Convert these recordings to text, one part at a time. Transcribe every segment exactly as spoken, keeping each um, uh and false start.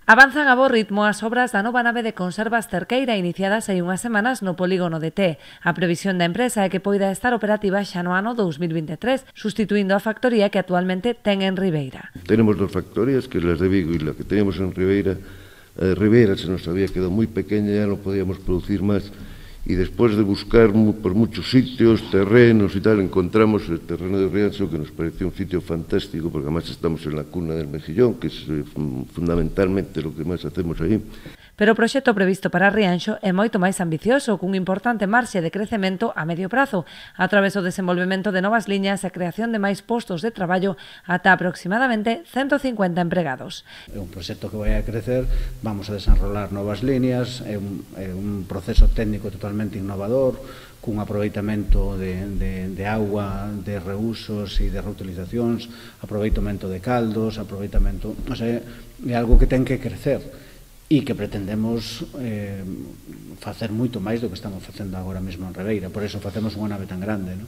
Avanzan a bo ritmo as obras da nova nave de conservas Cerqueira iniciadas hai unhas semanas no polígono de Té. A previsión da empresa é que poida estar operativa xa no ano dous mil vinte e tres, sustituindo a factoría que actualmente ten en Ribeira. Tenemos dos factorías, que las de Vigo e la que teníamos en Ribeira. Eh, Ribeira se nos había quedado moi pequeña, ya no podíamos producir máis. Y después de buscar por muchos sitios, terrenos y tal, encontramos el terreno de Rianxo, que nos pareció un sitio fantástico, porque además estamos en la cuna del mejillón, que es eh, fundamentalmente lo que más hacemos ahí. Pero o proxecto previsto para Rianxo é moito máis ambicioso, cun importante marxe de crecemento a medio prazo, a través do desenvolvemento de novas liñas e a creación de máis postos de traballo ata aproximadamente ciento cincuenta empregados. É un proxecto que vai a crecer, vamos a desenrolar novas liñas, é un, é un proceso técnico totalmente innovador, cun aproveitamento de, de, de agua, de reusos e de reutilizacións, aproveitamento de caldos, aproveitamento... O sea, é algo que ten que crecer e que pretendemos eh, facer moito máis do que estamos facendo agora mesmo en Ribeira, por iso facemos unha nave tan grande. ¿No?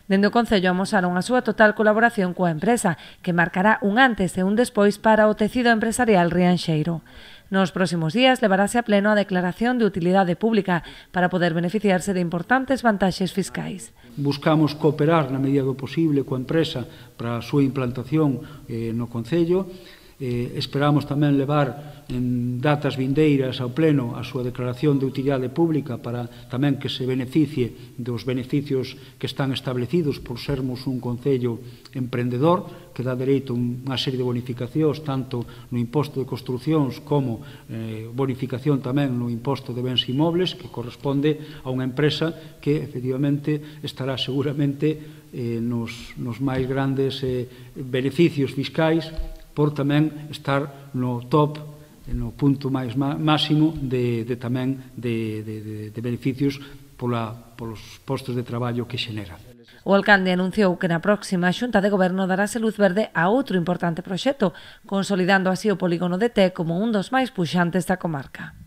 Dende o Concello amosaron a súa total colaboración coa empresa, que marcará un antes e un despois para o tecido empresarial rianxeiro. Nos próximos días levarase a pleno a declaración de utilidade pública para poder beneficiarse de importantes vantaxes fiscais. Buscamos cooperar na medida do posible coa empresa para a súa implantación eh, no Concello. Eh, esperamos tamén levar en datas vindeiras ao pleno a súa declaración de utilidade pública para tamén que se beneficie dos beneficios que están establecidos por sermos un concello emprendedor que dá dereito a unha serie de bonificacións tanto no imposto de construcións como eh, bonificación tamén no imposto de bens inmobles que corresponde a unha empresa que efectivamente estará seguramente eh, nos, nos máis grandes eh, beneficios fiscais por tamén estar no top, no punto máis máximo de, de tamén de, de, de beneficios pola, polos postos de traballo que xenera. O alcalde anunciou que na próxima Xunta de Goberno darase luz verde a outro importante proxecto, consolidando así o polígono de Té como un dos máis puxantes da comarca.